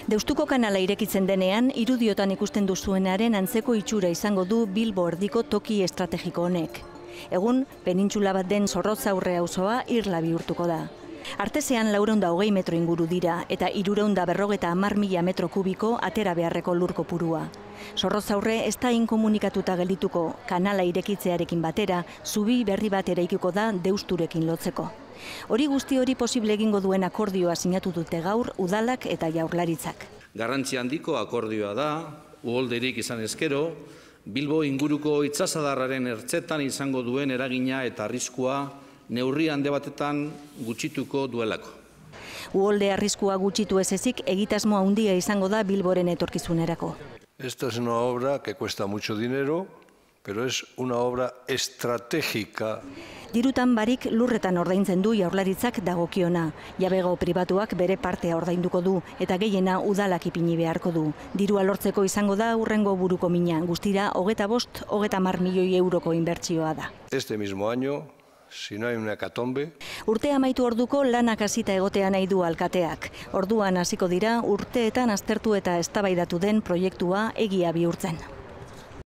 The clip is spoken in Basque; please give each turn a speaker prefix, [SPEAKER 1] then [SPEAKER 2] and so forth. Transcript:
[SPEAKER 1] Deustuko kanala irekitzen denean, irudiotan ikusten duzuenaren antzeko itxura izango du Bilbo erdiko toki estrategiko honek. Egun, penintxula bat den Zorrotzaurre auzoa irla bihurtuko da. Artesean 420 metro inguru dira eta 350.000 metro kubiko atera beharreko lur kopurua. Zorrotzaurre ez da inkomunikatuta geldituko, kanala irekitzearekin batera, zubi berri bat eraikiko da Deusturekin lotzeko. Hori guzti hori posible egingo duen akordioa sinatu dute gaur udalak eta jaurlaritzak.
[SPEAKER 2] Garrantzi handiko akordioa da, uholderik izan ezkero, Bilbo inguruko itsasadarraren ertzetan izango duen eragina eta arriskua neurri handi batetan gutxituko duelako.
[SPEAKER 1] Uholde arriskua gutxitu ez ezik egitasmo handia izango da Bilboren etorkizunerako.
[SPEAKER 3] Esta es una obra que cuesta mucho dinero, pero es una obra estratégica.
[SPEAKER 1] Dirutan barik lurretan ordaintzen du jaurlaritzak dagokiona. Jabego pribatuak bere partea ordainduko du eta gehiena udalak ipini beharko du. Dirua lortzeko izango da hurrengo buruko mina, guztira 25-30 milioi euroko inbertsioa da.
[SPEAKER 3] Este mismo año, si no hay una hecatombe.
[SPEAKER 1] Urtea amaitu orduko lanak hasita egotea nahi du alkateak. Orduan hasiko dira urteetan aztertu eta eztabaidatu den proiektua egia bihurtzen.